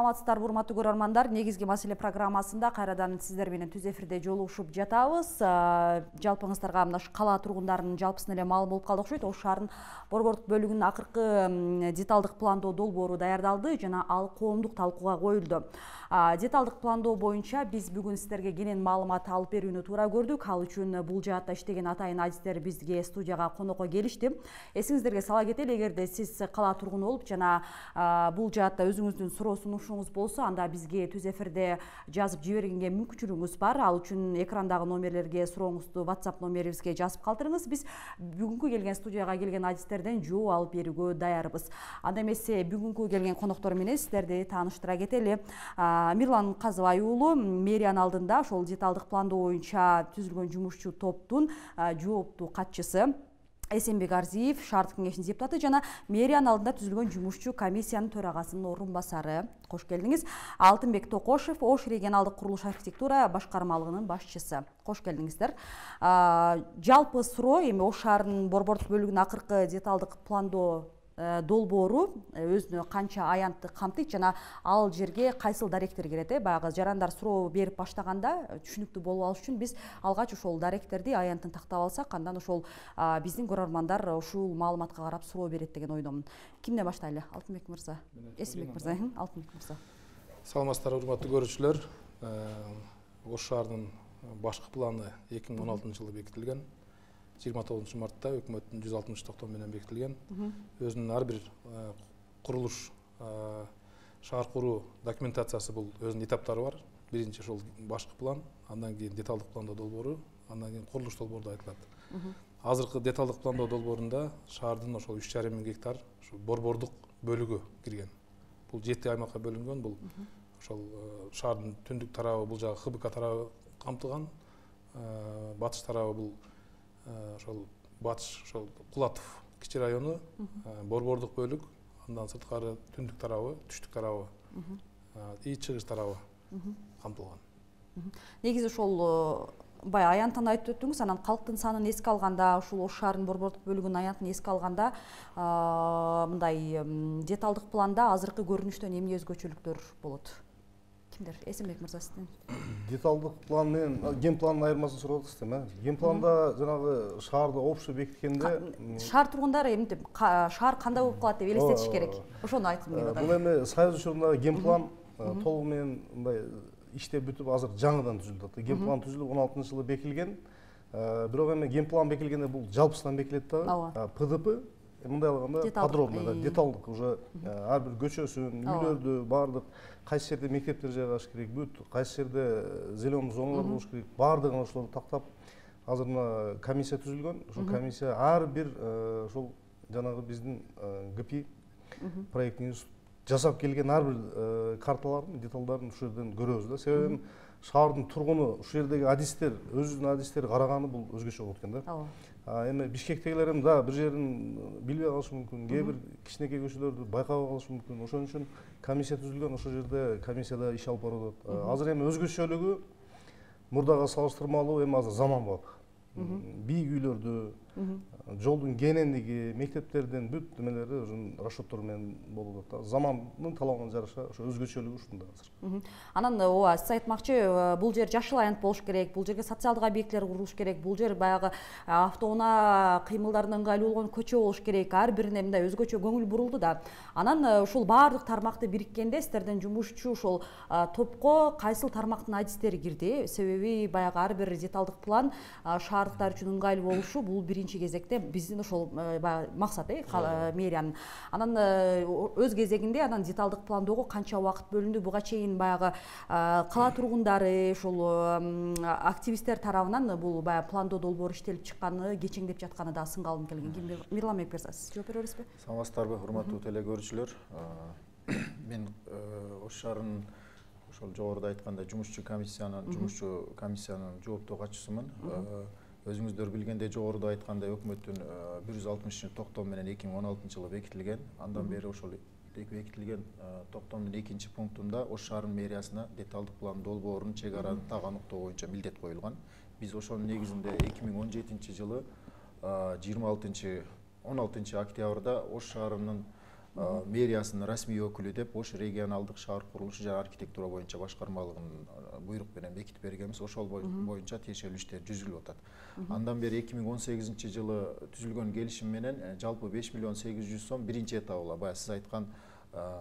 Саламатсыздарбы, урматтуу көрөрмандар. Негизги маселе программасында кайрадан сиздер менен түз эфирде жолугушуп жатабыз. Жалпыңыздарга мына кала тургундарынын жалпысын эле маалым болуп калды окшойт. Ош шаарынын борбордук бөлүгүнүн акыркы деталдык пландоо долбоору даярдалды жана ал коомдук талкууга коюлду. Деталдык пландоо боюнча биз бүгүн сиздерге кенен маалымат алып берүүнү туура көрдүк. Ал үчүн бул жаатта иштеген атайын адистер бизге студияга конокко келишти. Эсиңиздерге сала кетели, эгерде сиз кала тургуну болуп жана бул жаатта өзүңүздүн суроо сунушуңуз болсо, анда бизге түз эфирде жазып жибергенге мүмкүнчүлүгүңүз бар. Ал үчүн экрандагы номерлерге сурооңузду WhatsApp номерибизге жазып калтырыңыз. Биз бүгүнкү келген студияга келген адистерден жооп алып берүүгө даярбыз. Анда эмесе бүгүнкү келген коноктор менен сиздерди тааныштыра кетели. Мирлан Казыбай уулу мэриянын алдында ошол деталдык пландоо боюнча түзүлгөн жумушчу топтун жооптуу катчысы Эсенбек Арзиев, шаардык кеңештин депутаты жана мэриянын алдында түзүлгөн жумушчу комиссиянын төрагасынын орун басары. Кош келдиңиз. Алтынбек Токошев, Ош регионалдык курулуш архитектура башкармалыгынын башчысы. Кош келдиңиздер. Жалпы суроо эми Ош шаарынын борбордук бөлүгүнүн акыркы деталдык пландоо долбоору өзүнө канча аянтты камтыйт жана ал жерге кайсыл даректер кирет? Баягы жарандар суроо берип баштаганда түшүнүктүү болуп алыш үчүн биз алгач ошол даректерди аянтын тактап алсак, андан ошол биздин көрөрмандар ушул маалыматка карап суроо берет деген ойдомун. Кимден баштайлы? Алтынбек мырза. Эсенбек мырза. Алтынбек мырза. Саламатсыздарбы, урматтуу көрүүчүлөр. Ош шаарынын башкы планы 2016 жылы бекитилген. 29 мартта өкмөттүн 160 токтом менен бекитилген. Өзүнүн ар бир курулуш шаар куруу документациясы бул өзүнүн этаптары бар. Биринчи ошол башкы план, андан кийин деталдык пландоо долбоору, андан кийин курулуш долбоору деп айтылат. Азыркы деталдык пландоо долбоорунда шаардын ошол 3,5 миң гектар борбордук бөлүгү кирген. Бул 7 аймакка бөлүнгөн. Бул ошол шаардын түндүк тарабы, бул жагы ХБК тарабы камтылган. Батыш тарабы бул ошол батыш, ошол Кулатов кичи району, борбордук бөлүк, андан сырткары түндүк тарабы, түштүк тарабы, и чыгыш тарабы камтылган. Негизи ошол бая аянтын айтып өттүңүз, анан калктын санын эске алганда, ушул Ош шаарынын борбордук бөлүгүнүн аянтын эске алганда, мындай деталдык планда азыркы көрүнүштөн эмне өзгөчөлүктөр болот? Эсенбек мырза, сизден. Деталдык план менен ген пландын айырмасын сурап атасыздар. Ген планда жанагы шаарды общий бекиткенде шаар тургундары эмнетип, шаар кандай болуп калат деп элестетиш керек. Ошону айткым келип атат. Бул эми Союз учурунда ген план толугу менен мындай иштеп бүтүп азыр жаңыдан түзүлүп. Ген план түзүлүп 16 жылы бекилген. Бирок эми ген план бекилгенде бул жалпысынан бекилет да. ПДП мындай алганда подробно, деталдык уже ар бир көчөсүн, үйлөрдү баардык кайсы жерде мектептер жайгаш керек, бүт кайсы жерде зеленый зоналар болуш керек, баардыгын ошолорду тактап азыр мына комиссия түзүлгөн. Ошол комиссия ар бир ошол жанагы биздин ГПИ проектин жасап келген ар бир карталардын деталдарын ушул жерден көрөбүз да. Себеби шаардын тургуну ушул жердеги адистер, өзүнүн адистери караганы бул өзгөчө болот экен да. Эми Бишкектегилер эми да бир жерин билбей калышы мүмкүн, кээ бир кичинекей көчөлөрдү байкабай калышы мүмкүн. Ошон үчүн комиссия түзүлгөн, ошол жерде комиссияда иш алып барып атат. Азыр эми өзгөчөлүгү мурдага салыштырмалуу эми азыр заманбап. Бийик үйлөрдү, жолдун кенендиги, мектептердин бүт немелери ошо расчеттор менен болуп атат. Замандын талабына жараша ошо өзгөчөлүгү ушунда азыр. Анан ооба, сиз айтмакчы, бул жер жашыл аянт болуш керек, бул жерге социалдык объекттер курулуш керек, бул жер баягы автоунаа кыймылдарына ыңгайлуу болгон көчө болуш керек. Ар бирине мындай өзгөчө көңүл бурулду да. Анан ушул баардык тармакты бириккенде сиздерден жумушчу ошол топко кайсыл тармактын адистери кирди? Себеби баягы ар бир деталдык план шаардыктар үчүн ыңгайлуу болушу бул биринчи кезекте биздин ошол максат мэриянын. Анан өз кезегинде анан деталдык пландоого канча убакыт бөлүндү? Буга чейин баягы кала тургундары, ошол активисттер тарабынан бул баягы пландоо долбоору иштелип чыкканы, кечеңдеп жатканы да сынга алынып келген. Мирлан мырза, сиз жооп бере бересизби? Саламатсыздарбы, урматтуу теле көрүүчүлөр. Мен Ош шаарынын ошол жогоруда айткандай жумушчу комиссиянын жооптуу катчысымын. Өзүңүздөр билгендей, жогоруда айткандай өкмөттүн 160 токтом менен 2016 жылы бекитилген. Андан бери ошол бекитилген токтомдун 2 пунктунда Ош шаарынын мэриясына деталдык план долбоорунун чек араны так аныктоо боюнча милдет коюлган. Биз ошонун негизинде 2017 жылы 16 октябрда Ош шаарынын мэриясынын расмий өкүлү деп Ош регионалдык шаар курулушу жана архитектура боюнча башкармалыгынын буйрук менен бекитип бергенбиз. Ошол боюнча тиешелүү иштер жүргүзүлүп атат. Андан бери 2018 жылы түзүлгөн келишим менен жалпы 5 миллион 800 сом биринчи этабыла баягы сиз айткан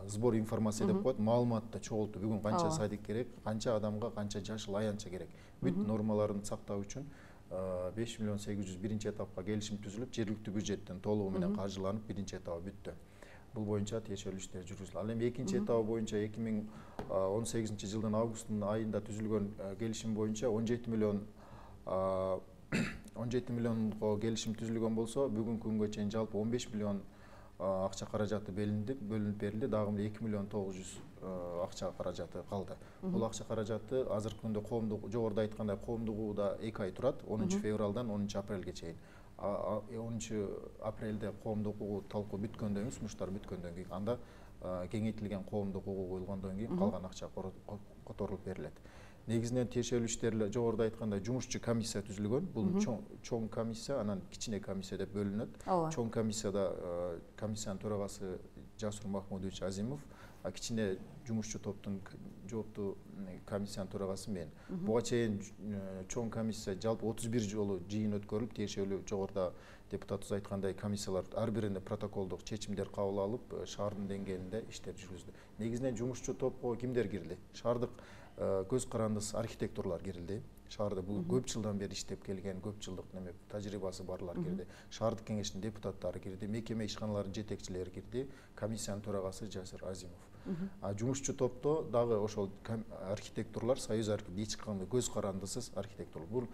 сбор информация деп коет, маалыматты чогултуу. Бүгүн канча садик керек, канча адамга канча жашыл аянтча керек. Бүт нормаларын сактоо үчүн 5 миллион 800 биринчи этапка келишим түзүлүп, жергиликтүү бюджеттен толугу менен каржыланып, биринчи этабы бүттү. Бул боюнча тиешелүү иштер жүргүзүлдү. Ал эми экинчи этабы боюнча 2018 жылдын августунун айында түзүлгөн келишим боюнча 17 миллионго келишим түзүлгөн болсо, бүгүнкү күнгө чейин жалпы 15 миллион акча каражаты бөлүнүп берилди. Дагы 2 миллион 900 акча каражаты калды. Бул акча каражаты азыркы күндө коомдук, жогоруда айткандай, коомдук угууда 2 ай турат, 10 февралдан 10 апрелге чейин. 10 апрелде коомдук угуу талкуу бүткөндөн кийин, сунуштар бүткөндөн кийин, анда кеңейтилген коомдук угуу коюлгондон кийин калган акча которулуп берилет. Негизинен тиешелүү иштер жогоруда айткандай жумушчу комиссия түзүлгөн. Бул чоң комиссия, анан кичине комиссия деп бөлүнөт. Чоң комиссияда комиссиянын төрагасы Жасур Махмудович Азимов, кичине жумушчу топтун жооптуу комиссиянын төрагасы мен. Буга чейин чоң комиссия жалпы 31 жолу жыйын өткөрүлүп, тиешелүү жогоруда депутатыбыз айткандай комиссиялар ар биринде протоколдук чечимдер кабыл алып, шаардын деңгээлинде иштер жүргүздү. Негизинен жумушчу топко кимдер кирди? Шаардык көз карандысы архитекторлор кирилди. Шаарда бул көп жылдан бери иштеп келген, көп жылдык тажрыйбасы барлар кирди. Шаардык кеңештин депутаттары кирди, мекеме ишканаларынын жетекчилери кирди, комиссиянын төрагасы Жасыр Азимов. Жумушчу топто дагы ошол архитекторлор, союз эч кандай көз карандысыз архитекторлор. Бул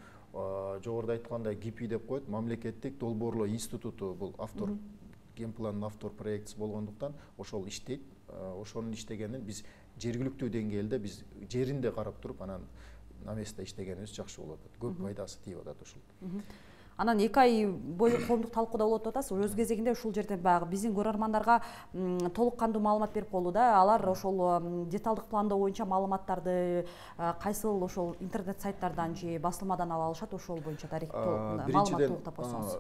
жогоруда айткандай ГИПИ деп коет, мамлекеттик долбоорлоо институту, бул автор, генпландын автор проектisi болгондуктан ошол иштейт. Ошонун иштегенин биз жергиликтүү деңгээлде биз жеринде карап туруп, анан наместе иштегенибиз жакшы болуп атат. Көп пайдасы тийип атат ушул. Анан 2 ай бою коомдук талкууда болуп атасыз. Өз кезегинде ушул жерден баягы биздин көрөрмандарга толук кандуу маалымат берип болду да. Алар ошол деталдык пландоо боюнча маалыматтарды кайсыл ошол интернет сайттардан же басылмадан ала алышат, ошол боюнча маалымат толуктап койсоңуз.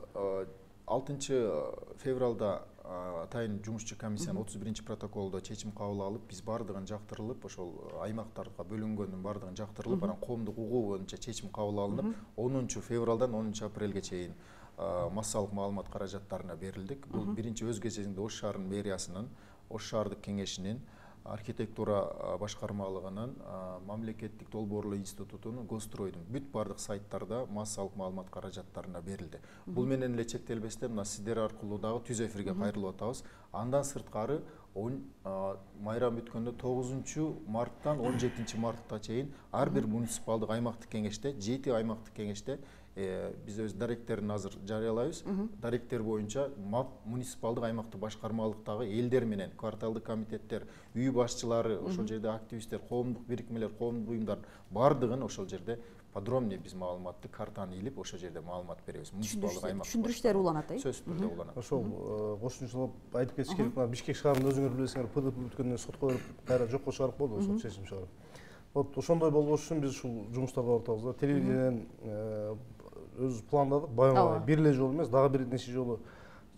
6 февралда атайын жумушчу комиссиянын 31 протоколдо чечим кабыл алып, биз бардыгын жактырылып, ошол аймактарга бөлүнгөндүн бардыгын жактырылып, анан коомдук угуу боюнча чечим кабыл алынып, 10 февралдан 10 апрелге чейин массалык маалымат каражаттарына берилдик. Бул биринчи өз кезегинде Ош шаарынын мэриясынын, Ош шаардык кеңешинин, архитектура башкармалыгынын, мамлекеттик долбоорлоо институтунун, Гостройдун бүт бардык сайттарда массалык маалымат каражаттарына берилди. Бул менен эле чектелбестен мына сиздер аркылуу дагы түз эфирге кайрылып атабыз. Андан сырткары майрам бүткөндө 9 марттан 17 мартка чейин ар бир муниципалдык аймактык кеңеште, 7 аймактык кеңеште биз өз даректерин азыр жарыялайбыз. Даректер боюнча муниципалдык аймактык башкармалыктагы элдер менен, кварталдык комитеттер, үй башчылары, ошол жерде активисттер, коомдук бирикмелер, коомдук уюмдар бардыгын ошол жерде подробный биз маалыматты картаны илип, ошол жерде маалымат беребиз. Муниципалдык аймак түшүндүрүштөр уланат, сөзсүз түрдө уланат. Ошол кошумчалап айтып кетиш керек. Бишкек шаарында өзүңөр билесиңер, ПДП бүткөндөн сотко берип, кайра жокко чыгарып койду, ошол чечим чыгарып. Вот ошондой болбош үчүн биз ушул жумуштарды алып атабыз да. Телевидениеден өз пландадык, баягы бир эле жолу эмес, дагы бир нече жолу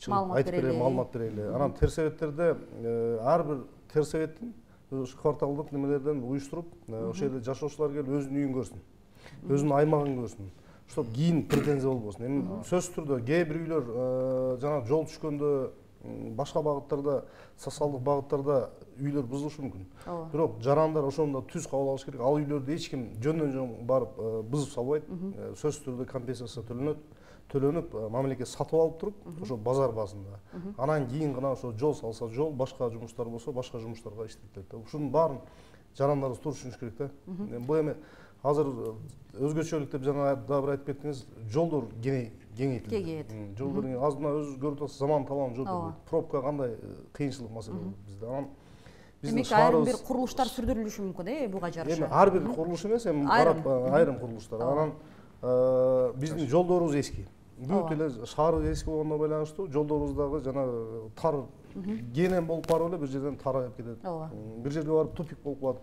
чыгып айтып берели, маалымат берели. Анан терсебеттерде ар бир терсебеттин кварталдык немелерден уюштуруп, ошол жерде жашоочулар келип өзүнүн үйүн көрсүн, өзүнүн аймагын көрсүн, чтоб кийин претензия болбосун. Эми сөзсүз түрдө кээ бир үйлөр жана жол түшкөндө башка багыттарда, социалдык багыттарда үйлөр бузулушу мүмкүн. Бирок жарандар ошондо түз кабыл алыш керек. Ал үйлөрдү эч ким жөндөн жөн барып бузуп салбайт. Сөзсүз түрдө компенсация төлөнүп, мамлекет сатып алып туруп, ошо базар базында. Анан кийин гана ошо жол салса жол, башка жумуштар болсо башка жумуштарга иштетилет. Ушунун баарын жарандарыбыз туура түшүнүш керек да. Бул эми азыр өзгөчөлүк деп жана дагы бир айтып кеттиңиз, жолдор кеңейтилди. Жолдор аз мына өзү көрүп атасыз, заман талабы жолдор. Пробка кандай кыйынчылык маселе болот бизде. Анан демек айрым бир курулуштар сүрдүрүлүшү мүмкүн, буга жараша. Эми ар бир курулуш эмес, эми айрым курулуштар. Анан биздин жолдорубуз эски. Бүт эле шаарыбыз эски болгондо байланыштуу, жолдорубуздагы жана тар кенен болуп барып эле бир жерден тарайып кетет. Бир жерге барып тупик болуп калат.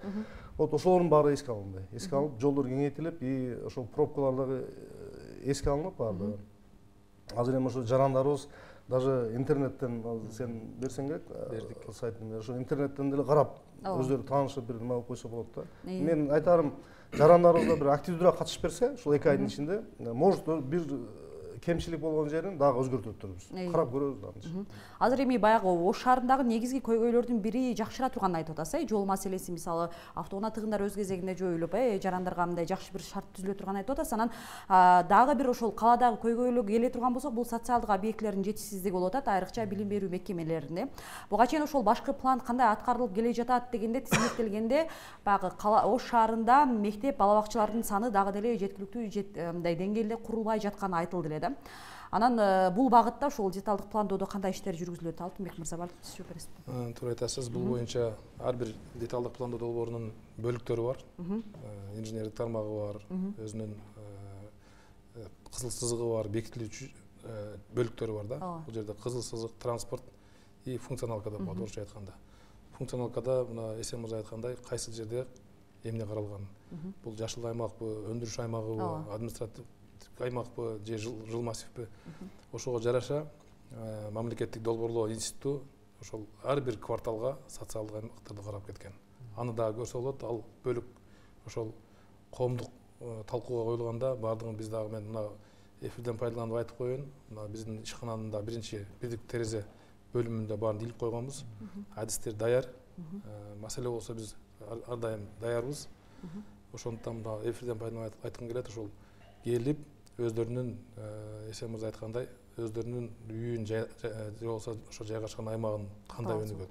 Вот ошолордун баары эске алынды. Эске алынып, жолдор кеңейтилип, и ошол пробкалар дагы эске алынып баардыгы. Азыр эми ошо жарандарыбыз даже интернеттен сен берсең керек сайтын, ошо интернеттен деле карап өздөрү таанышып бир нема кылып койсо болот да. Мен айтарым, жарандарыбыз да бир активдүүрөөк катышып берсе, ушул 2 айдын ичинде, может бир кемчилик болгон жерин дагы өзгөртүп турбуз. Карап көрөбүз аны. Азыр эми баягы Ош шаарындагы негизги көйгөйлөрдүн бири жакшыра турганын айтып атасыз, жол маселеси, мисалы автоунаа тыгындар өз кезегинде жоюлуп, жарандарга мындай жакшы бир шарт түзүлө турганын айтып атасыз. Анан дагы бир ошол калаадагы көйгөйлүк келе турган болсок, бул социалдык объектилердин жетишсиздиги болуп атат, айрыкча билим берүү мекемелеринде. Буга чейин ошол башкы план кандай аткарылып келе жатат дегенде тизмектелгенде, баягы Ош шаарында мектеп, бала бакчалардын саны дагы деле жеткиликтүү мындай деңгээлде курулбай жатканы айтылды эле да. Анан бул багытта ошол деталдык пландоодо кандай иштер жүргүзүлөт? Алтынбек мырза, сиз жооп бересиз. Туура айтасыз. Бул боюнча ар бир деталдык пландоо долбоорунун бөлүктөрү бар. Инженердик тармагы бар, өзүнүн кызыл сызыгы бар, бекитилүүчү бөлүктөрү бар да. Бул жерде кызыл сызык, транспорт и функционалка деп коет орусча айтканда. Функционалкада мына Эсен мырза айткандай, кайсы жерде эмне каралган? Бул жашыл аймакпы, өндүрүш аймагыбы, административ аймакпы же жыл массивпи, ошого жараша мамлекеттик долбоорлоо институту ошол ар бир кварталга социалдык аймактарды карап кеткен. Аны дагы көрсө болот. Ал бөлүк ошол коомдук талкууга коюлганда баардыгын биз дагы, мен мына эфирден пайдаланып айтып коеюн, мына биздин ишкананын да биринчи бирдик терезе бөлүмүндө баарын илип койгонбуз. Адистер даяр. Маселе болсо биз ар дайым даярбыз. Ошондуктан мына эфирден пайдаланып айткым келет, ошол келип өздөрүнүн Эсен мырза айткандай, өздөрүнүн үйүн же болбосо ошо жайгашкан аймагын кандай өнүгөт,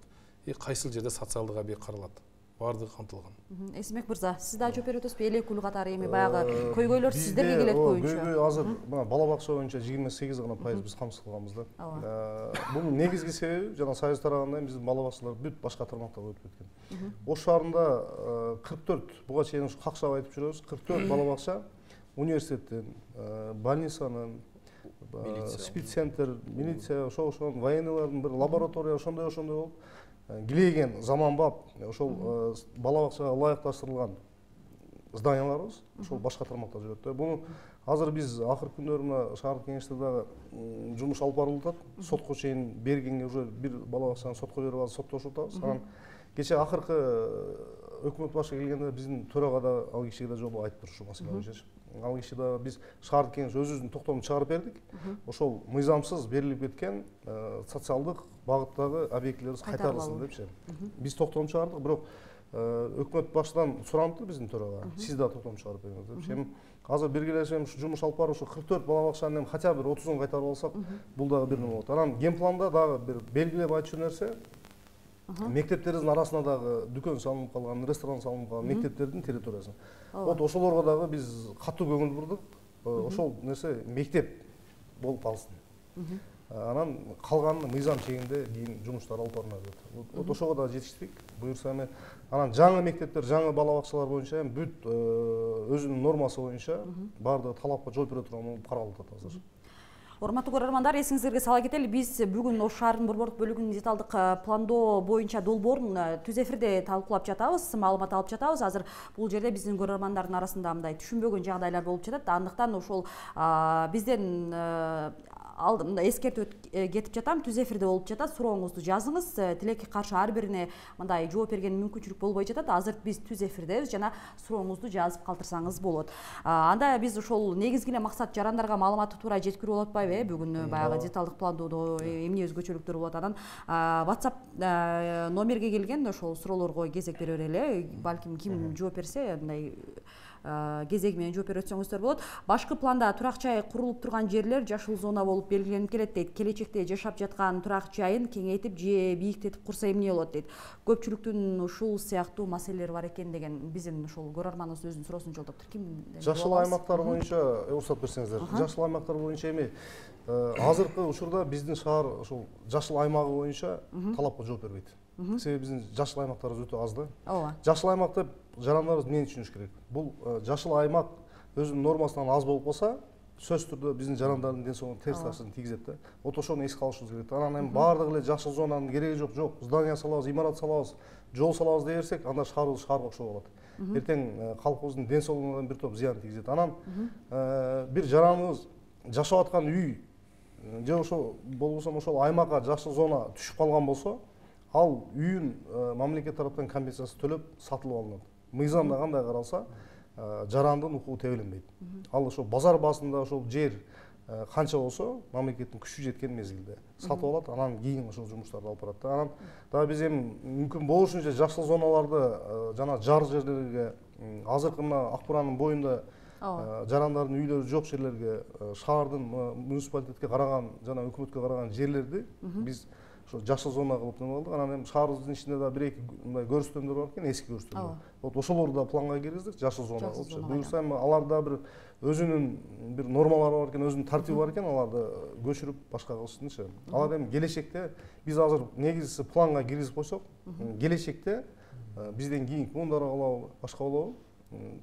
кайсыл жерде социалдык объект каралат, баардыгы камтылган. Эсенбек мырза, сиз дагы жооп берип атасызбы? Элек өлү катары эми баягы көйгөйлөр сиздерге келет боюнча. Көйгөй азыр мына бала бакча боюнча 28% биз камсыз кылганбыз да. Бунун негизги себеби жана Союз тарабынан биздин бала бакчалар бүт башка тармактарга өтүп кеткен. Ош шаарында 44, буга чейин какчалап айтып жүрөбүз, 44 бала бакча университеттен, больницанын, спеццентр, милиция, ошол военныйлардын бир лаборатория ошондой болуп, килейген заманбап ошол бала бакчага ылайыкташтырылган зданияларыбыз ошол башка тармакта жүрөт да. Буну азыр биз акыркы күндөрү мына шаардык кеңеште дагы жумуш алып барылып атат. Сотко чейин бергенге уже бир бала бакчаны сотко берип азыр соттошуп атабыз. Анан кечээ акыркы өкмөт башы келгенде биздин төрага да ал кишиге да жолугуп айтып турушу маселе боюнча. Ал киши да биз шаардык кеңеш өзүбүздүн токтомун чыгарып бердик. Ошол мыйзамсыз берилип кеткен социалдык багыттагы объектилерибиз кайтарылсын депчи. Биз токтом чыгардык, бирок өкмөт башыдан суранды биздин төрага. Сиз да токтом чыгарып бериңиз депчи. Эми азыр биргелешип ушу жумуш алып барып, ушу 44 бала бакчанын хотя бир 30-ун кайтарып алсак, бул дагы бир нерсе болот. Анан генпланда дагы бир белгилеп айтчу нерсе, мектептерибиздин арасына дагы дүкөн салынып калган, ресторан салынып калган мектептердин территориясына. Вот ошолорго дагы биз катуу көңүл бурдук. Ошол нерсе мектеп болуп калсын. Анан калганын мыйзам чегинде кийин жумуштар алып барылат. Вот ошого да жетиштик. Буюрса эми анан жаңы мектептер, жаңы бала бакчалар боюнча бүт өзүнүн нормасы боюнча баардыгы талапка жооп бере турган болуп каралып атат азыр. Урматтуу көрөрмандар, эсиңиздерге сала кетели, биз бүгүн Ош шаарынын борбордук бөлүгүнүн деталдык пландоо боюнча долбоорун түз эфирде талкуулап жатабыз, маалымат алып жатабыз. Азыр бул жерде биздин көрөрмандардын арасында мындай түшүнбөгөн жагдайлар болуп жатат. Андыктан ошол бизден алдымда эскертип кетип жатам, түз эфирде болуп жатат, сурооңузду жазыңыз. Тилекке каршы ар бирине мындай жооп берген мүмкүнчүлүк болбой жатат. Азыр биз түз эфирдебиз, жана сурооңузду жазып калтырсаңыз болот. Анда биз ошол негизги эле максат жарандарга маалыматты туура жеткирүү болуп атпайбы? Бүгүн баягы деталдык пландоодо эмне өзгөчөлүктөр болот? Анан WhatsApp номерге келген ошол суроолорго кезек бере берели. Балким ким жооп берсе, мындай кезеги менен жооп берип өтсөңүздөр болот. Башкы планда турак жай курулуп турган жерлер жашыл зона болуп белгиленип келет дейт. Келечекте жашап жаткан турак жайын кеңейтип же бийиктетип курса эмне болот дейт. Көпчүлүктүн ушул сыяктуу маселелери бар экен деген биздин ошол көрөрманыбыз өзүнүн суроосун жолдоптур. Ким? Жашыл аймактар боюнча уруксат берсеңиздер. Жашыл аймактар боюнча эми азыркы учурда биздин шаар ошол жашыл аймагы боюнча талапка жооп бербейт. Себеби биздин жашыл аймактарыбыз өтө аз да. Ооба. Жашыл аймак деп жарандарыбыз эмнени түшүнүш керек? Бул жашыл аймак өзүнүн нормасынан аз болуп калса, сөзсүз түрдө биздин жарандардын ден соолугуна терс таасирин тийгизет да. Вот ошону эске алышыбыз керек. Анан эми баардыгы эле жашыл зонанын кереги жок, здание салабыз, имарат салабыз, жол салабыз дей берсек, анда шаарыбыз шаарга окшоп калат. Эртең калкыбыздын ден соолугуна бир топ зыян тийгизет. Анан бир жараныбыз жашап аткан үй же ошо болбосо ошол аймакка жашыл зона түшүп калган болсо, ал үйүн мамлекет тараптан компенсация төлөп сатылып алынат. Мыйзамда кандай каралса, жарандын укугу тебеленбейт. Ал ошо базар баасында ошол жер канча болсо, мамлекеттин күчү жеткен мезгилде сатып алат, анан кийин ошол жумуштарды алып барат. Анан дагы биз эми мүмкүн болушунча жашыл зоналарды жана жар жерлерге, азыркы мына Акбуранын боюнда жарандардын үйлөрү жок жерлерге, шаардын муниципалитетке караган жана өкмөткө караган жерлерди биз жашыл зона кылып неме кылдык. Анан эми шаарыбыздын ичинде да бир эки мындай көрсөтмөлөр бар экен, эски көрсөтмөлөр. Вот ошолорду да планга киргиздик, жашыл зона кылып. Буюрса эми аларда бир өзүнүн бир нормалары бар экен, өзүнүн тартиби бар экен, аларды көчүрүп башка кылышсынчы. Алар эми келечекте биз азыр негизгиси планга киргизип койсок, келечекте бизден кийинки муундар болобу, башка болобу,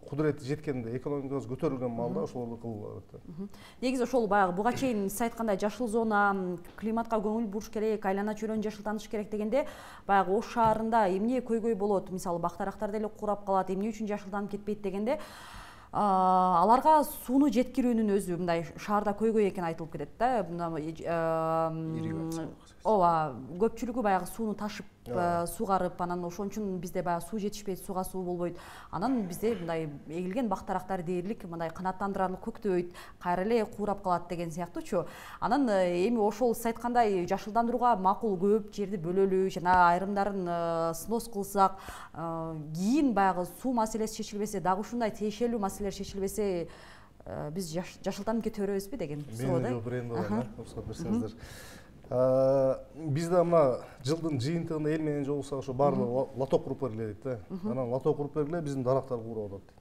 кудурети жеткенде, экономикабыз көтөрүлгөн маалда ошолорду кылуу керек. Негизи ошол баягы буга чейин сиз айткандай жашыл зона, климатка көңүл буруш керек, айлана чөйрөнү жашылтаныш керек дегенде, баягы Ош шаарында эмне көйгөй болот? Мисалы бак-дарактар деле курап калат, эмне үчүн жашылданып кетпейт дегенде, аларга сууну жеткирүүнүн өзү мындай шаарда көйгөй экени айтылып кетет да. Ооба, көпчүлүгү баягы сууну ташып, сугарып, анан ошон үчүн бизде баягы суу жетишпейт, сууга суу болбойт. Анан бизде мындай эгилген бак-дарактар дээрлик мындай канааттандырарлык көктөбөйт, кайра эле курап калат деген сыяктуучу. Анан эми ошол сиз айткандай жашылдандырууга макул көп жерди бөлөлү, жана айрымдарын снос кылсак, кийин баягы суу маселеси чечилбесе, дагы ушундай тиешелүү маселелер чечилбесе, биз жашылданып кете беребизби деген суроо да. Уруксат берсеңиздер. Бизде мына жылдын жыйынтыгында эл менен жолугсак ошо баардыгы лоток куруп бергиле дейт да. Анан лоток куруп бергиле, биздин дарактар куурап атат.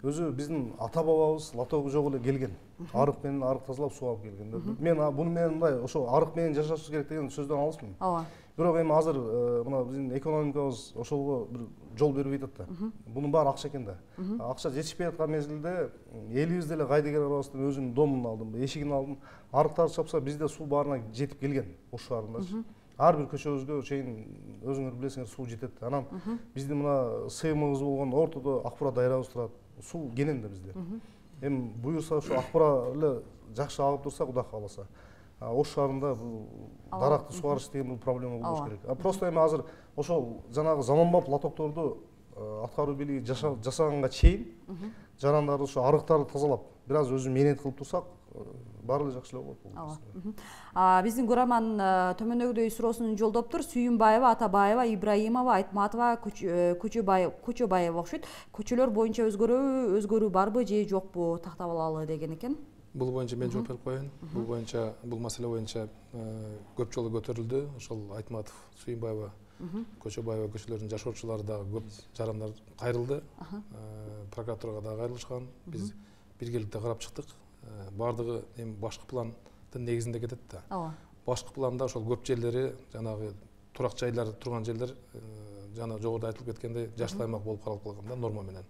Өзү биздин ата бабабыз лотогу жок эле келген. Арык менен арык тазалап суу алып келген. Мен буну менен мындай ошо арык менен жашашыбыз керек деген сөздөн алысмын. Ооба. Бирок эми азыр мына биздин экономикабыз ошого бир жол бербей атат да. Бунун баары акча экен да. Акча жетишпей аткан мезгилде элибиз деле кайдыгер арабыздан өзүнүн домун алдым, эшигин алдым. Арыктарды чапса бизде суу баарына жетип келген Ош шаарындачы. Ар бир көчөбүзгө чейин өзүңөр билесиңер суу жетет. Анан биздин мына СМыбыз болгон ортодо Акбура дайрабыз турат. Суу кенен да бизде. Эми буюрса ошо Акбура эле жакшы агып турса, Кудай кааласа, Ош шаарында даракты сугарыш деген бул проблема болбош керек. Просто эми азыр ошол жанагы заманбап лотокторду аткаруу бийлиги жасаганга чейин жарандарды ошо арыктарды тазалап, бир аз өзү мээнет кылып турсак, баары эле жакшы эле болот. Биздин көрөрман төмөндөгүдөй суроосун жолдоптур. Сүйүнбаева, Атабаева, Ибраимова, Айтматова, Көчөбаева окшойт. Көчөлөр боюнча өзгөрүү барбы же жокпу, тактап алалы деген экен. Бул боюнча мен жооп берип коеюн. Бул боюнча, бул маселе боюнча көп жолу көтөрүлдү. Ошол Айтматов, Сүйүнбаева, Көчөбаева көчөлөрүнүн жашоочулары дагы көп жарандар кайрылды. Прокуратурага дагы кайрылышкан. Биз биргеликте карап чыктык. Бардыгы эми башкы пландын негизинде кетет да. Башкы планда ошол көп жерлери, жанагы турак жайлар турган жерлер, жана жогоруда айтылып кеткендей жашыл аймак болуп каралып калган да, норма менен.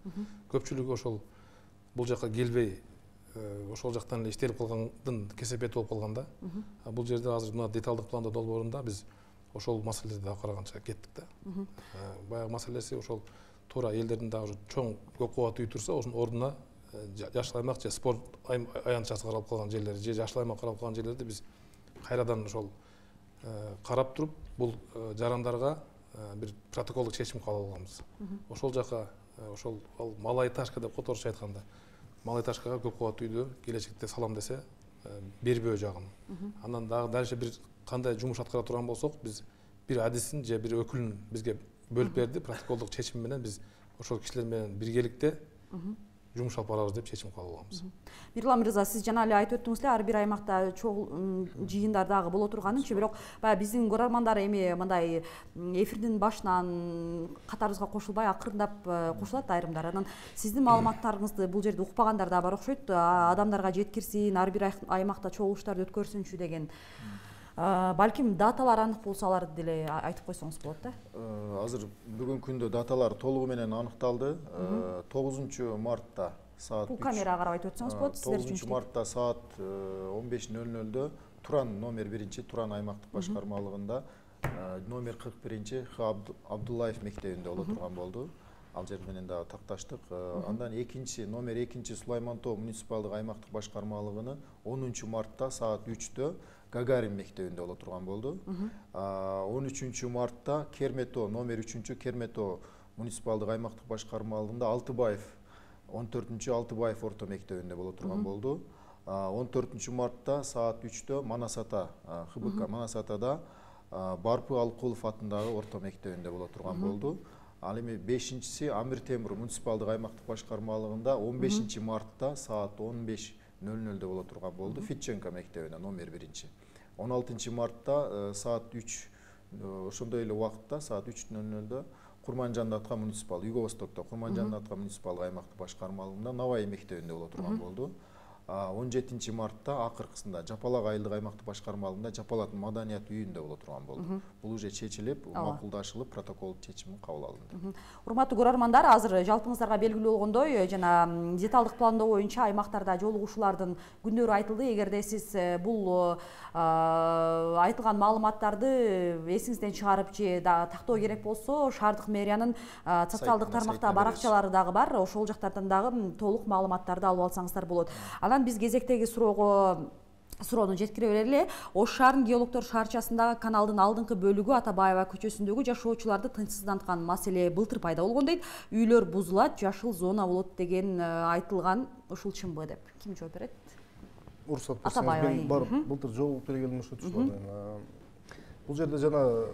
Көпчүлүгү ошол бул жака келбей, ошол жактан эле иштелип калгандын кесепети болуп калган да. Бул жерде азыр мына деталдык планда долбоорунда биз ошол маселеди дагы караганча кеттик да. Баягы маселеси ошол туура элдердин дагы чоң көк кубат үй турса, ошонун ордуна жашыл аймак же спорт аянтчасы каралып калган жерлер же жашыл аймак каралып калган жерлерди биз кайрадан ошол карап туруп, бул жарандарга бир протоколдук чечим кабыл алганбыз. Ошол жака ошол малайташка деп которуш айтканда, малайташкага көк кубат үйдү келечекте салам десе бербөө жагын. Андан дагы дальше бир кандай жумуш аткара турган болсок, биз бир адисин же бир өкүлүн бизге бөлүп берди, протоколдук чечим менен биз ошол кишилер менен биргеликте жумуш алып барабыз деп чечим кабыл алганбыз. Мирлан мырза, сиз жана эле айтып өттүңүз эле, ар бир аймакта чоң жыйындар дагы боло турганынчы, бирок баягы биздин көрөрмандар эми мындай эфирдин башынан катарыбызга кошулбай акырындап кошулат айрымдар. Анан сиздин маалыматтарыңызды бул жерде укпагандар да бар окшойт, адамдарга жеткирсин, ар бир аймакта чогулуштарды өткөрсүнчү деген. Балким даталар анык болсо аларды деле айтып койсоңуз болот да. Азыр бүгүнкү күндө даталар толугу менен аныкталды. 9 мартта саат бул камерага карап айтып өтсөңүз болот сиздер үчүн. 9 мартта саат 15:00 Туран номер 1 Туран аймактык башкармалыгында номер 41 Х Абдуллаев мектебинде боло турган болду. Ал жер менен дагы такташтык. Андан номер 2 Сулаймантоо муниципалдык аймактык башкармалыгыны 10 мартта саат 3-тө Гагарин мектебинде боло турган болду. 13 мартта Кермето номер 3 Кермето муниципалдык аймактык башкарма алдында Алтыбаев 14 Алтыбаев орто мектебинде боло турган болду. 14 мартта саат 3-тө Манасата ХБК Манасатада Барпы Алкулов атындагы орто мектебинде боло турган болду. Ал эми 5-си Амир Темур муниципалдык аймактык башкармалыгында 15 мартта саат 15:00 боло турган болду. Фитченко мектебинде номер 1. 16 мартта саат 3 ошондой эле убакытта саат 3:00 Курманжан Атка муниципал Юго-Востокто Курманжан Атка муниципалдык аймактык башкармалыгында Навай мектебинде боло турган болду. 17 мартта акыркысында Жапалак айылдык аймактык башкармалыгында Жапалат маданият үйүндө боло турган болду. Бул уже чечилип, макулдашылып, протокол чечими кабыл алынды. Урматтуу көрөрмандар, азыр жалпыңыздарга белгилүү болгондой, жана деталдык пландоо боюнча аймактарда жолугушуулардын күндөрү айтылды. Эгерде сиз бул айтылган маалыматтарды эсиңизден чыгарып же тактоо керек болсо, шаардык мэриянын социалдык тармакта баракчалары дагы бар. Ошол жактардан дагы толук маалыматтарды алып алсаңыздар болот. Анан биз кезектеги суроону жеткире берели. Ош шаарынын геологдор шаарчасындагы каналдын алдыңкы бөлүгү Атабаева көчөсүндөгү жашоочуларды тынчсызданткан маселе былтыр пайда болгон дейт. Үйлөр бузулат, жашыл зона болот деген айтылган. Ушул чынбы деп ким жооп берет? Уруксат берсеңиз, мен барып былтыр жол бергеним ошо түшүп. Бул жерде жана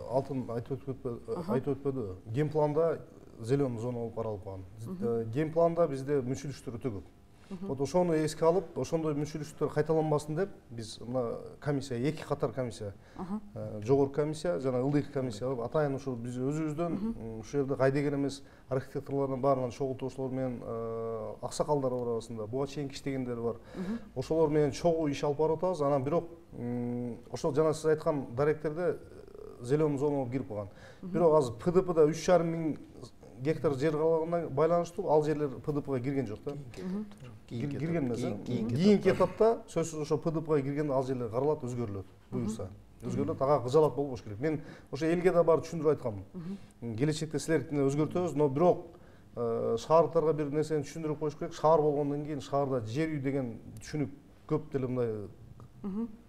Алтын айтып өтпөдү. Генпланда зеленый зона болуп каралып калган. Генпланда бизде мүчүлүштөр өтө көп. Вот ошону эске алып, ошондой мүчүлүштөр кайталанбасын деп, биз мына комиссия, 2 катар комиссия, жогорку комиссия жана ылдыйкы комиссия кылып, атайын ошо биз өзүбүздөн ушул жерде кайдыгер эмес архитекторлордун баарынан чогултуучулар менен аксакалдар бар арасында, буга чейин иштегендер бар. Ошолор менен чогуу иш алып барып атабыз. Анан бирок ошол жана сиз айткан даректерде зеленый зонага кирип калган. Бирок азыр ПДПда 3,5 миң гектар жер калганына байланыштуу ал жерлер ПДПга кирген жок да. Кирген эмес. Кийинки этапта сөзсүз ошо ПДПга киргенде ал жерлер каралат, өзгөрүлөт, буюрса. Өзгөрүлөт, ага кыжалат болбош керек. Мен ошо элге да барып түшүндүрүп айтканмын. Келечекте силердикине өзгөртөбүз, но бирок шаардыктарга бир нерсени түшүндүрүп коюш керек. Шаар болгондон кийин шаарда жер үй деген түшүнүк көп деле мындай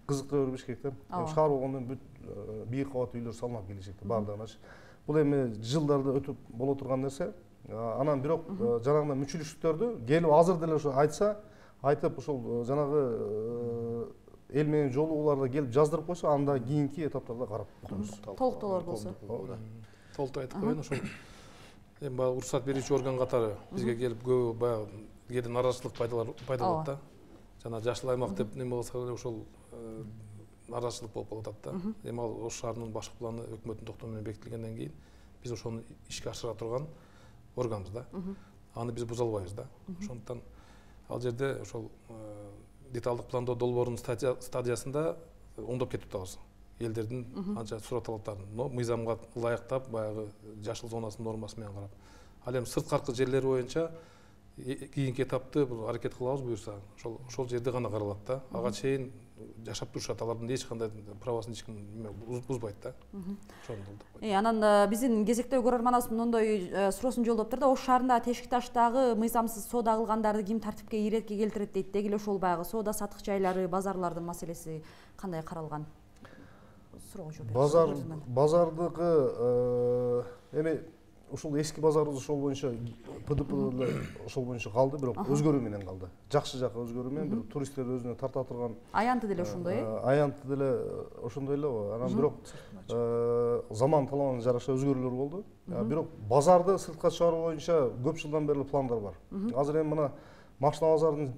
кызыктыра бербеш керек да. Шаар болгондон бүт бийик кабат үйлөр салынат келечекте баардыгына. Бул эми жылдарды өтүп боло турган нерсе. Анан бирок жанагы мүчүлүштүктөрдү келип азыр деле ошо айтса, айтып ошол жанагы эл менен жолугууларда келип жаздырып койсо, анда кийинки этаптарда карап коебуз. Толуктоолор болсо. Толуктуу айтып коеюн, ошол эми баягы уруксат берүүчү орган катары бизге келип көбү баягы кээде наразычылык пайда болот да. Жана жашыл аймак деп неме кылса эле ошол наразычылык болуп калып атат да. Эми ал Ош шаарынын башкы планы өкмөттүн токтому менен бекитилгенден кийин биз ошону ишке ашыра турган органбыз да. Аны биз буза албайбыз да. Ошондуктан ал жерде ошол деталдык пландоо долбоорунун стадиясында оңдоп кетип атабыз. Элдердин анча суроо талаптарын, но мыйзамга ылайыктап баягы жашыл зонасынын нормасы менен карап. Ал эми сырткаркы жерлери боюнча кийинки этапты бул аракет кылабыз буюрса, ошол жерде гана каралат да. Ага чейин жашап турушат, алардын эч кандай правасын эч ким бузбайт да. Анан биздин кезектеги көрөрманыбыз мындай суроосун жолдоптур да. Ош шаарында Тешик таштагы мыйзамсыз соода кылгандарды ким тартипке иретке келтирет дейт. Деги эле ошол баягы соода сатык жайлары, базарлардын маселеси кандай каралган? Суроого жооп бериңиз. Базардыкы эми ушул эски базарыбыз ошол боюнча ПДП ошол боюнча калды, бирок өзгөрүү менен калды. Жакшы жакы өзгөрүү менен, бирок туристтер өзүнө тарта турган. Аянты деле ошондой, Аянты деле ошондой эле. Анан бирок заман талабына жараша өзгөрүүлөр болду. Бирок базарды сыртка чыгаруу боюнча көп жылдан бери пландар бар. Азыр эми мына Машина базарынын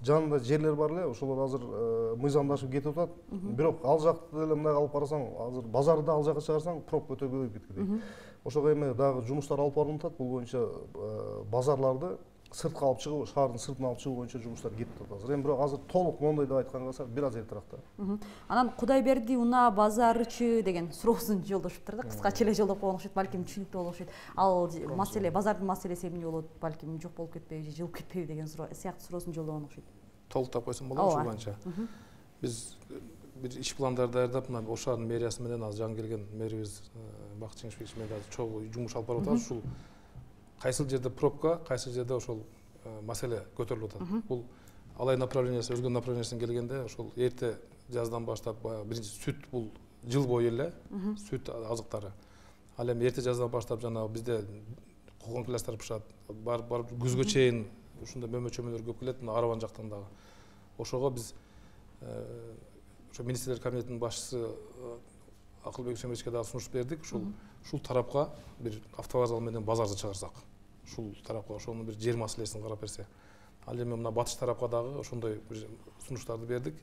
жанында жерлер бар эле, ошолор азыр мыйзамдашып кетип атат. Бирок ал жакты деле мындай алып карасаң, азыр базарды ал жакка чыгарсаң, пробка өтө көбөйүп кеткендей. Ошого эми дагы жумуштар алып барылып атат. Бул боюнча базарларды сыртка алып чыгуу, шаардын сыртына алып чыгуу боюнча жумуштар кетип атат азыр. Эми бирок азыр толук моундай деп айтканга калса бир аз эртерээк да. Анан Кудайберди унаа базарычы деген суроосун жолдошуптур да. Кыскача эле жолдоп койгон окшойт, балким түшүнүктүү болуп окшойт. Ал маселе, базардын маселеси эмне болот, балким жок болуп кетпейби же жылып кетпейби деген сыяктуу суроосун жолдогон окшойт. Толуктап койсом болобу ошол боюнча. Биз бир иш пландарды даярдап, мына Ош шаарынын мэриясы менен азыр жаңы келген мэрибиз Бакыт Жеңишбекович менен азыр чогуу жумуш алып барып атабыз. Ушул кайсыл жерде пробка, кайсыл жерде ошол маселе көтөрүлүп атат. Бул алай направлениясы өзгөн направлениясына келгенде ошол эрте жаздан баштап биринчи сүт бул жыл бою эле сүт азыктары. Ал эми эрте жаздан баштап жанагы бизде кулгон класстар пышат, барып күзгө чейин ушундай мөмө-чөмөлөр көп келет, мына Арабан жактан дагы. Ошого биз ошо министрлер кабинетинин башчысы Акылбек Үсенбековичке дагы сунуш бердик. Ушул тарапка бир автовокзал менен базарды чыгарсак, ушул тарапка ошонун бир жер маселесин карап берсе. Ал эми мына батыш тарапка дагы ошондой бир сунуштарды бердик.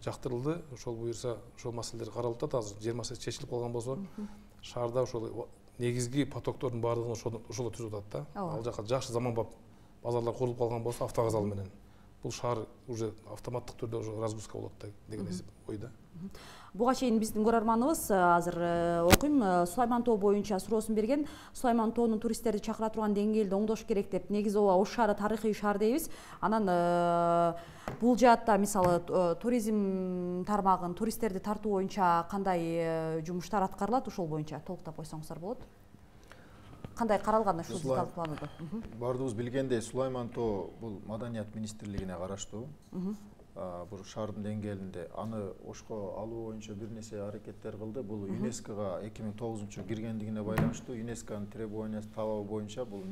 Жактырылды. Ошол буюрса ошол маселелер каралып атат. Азыр жер маселеси чечилип калган болсо, шаарда ошол негизги потоктордун баардыгын ошоло түзүп атат да. Ал жака жакшы заманбап базарлар курулуп калган болсо, автовокзал менен бул шаар уже автоматтык түрдө уже разгрузка болот деген ойда. Буга чейин биздин көрөрманыбыз азыр окуйм, Сулайман тоо боюнча суроосун берген. Сулайман тоонун туристтерди чакыра турган деңгээлди оңдош керек деп. Негизи Ош шаары тарыхый шаар дейбиз. Анан бул жаатта мисалы туризм тармагын, туристтерди тартуу боюнча кандай жумуштар аткарылат, ошол боюнча толуктап койсоңуздар болот. Кандай каралган ушул деталдык планда? Бардыгыбыз билгендей, Сулайман тоо бул Маданият министрлигине караштуу. Бул шаардын деңгээлинде аны Ошко алуу боюнча бир нерсе аракеттер кылды. Бул ЮНЕСКОга 2009-жылы киргендигине байланыштуу. ЮНЕСКОнун требованиясы талабы боюнча бул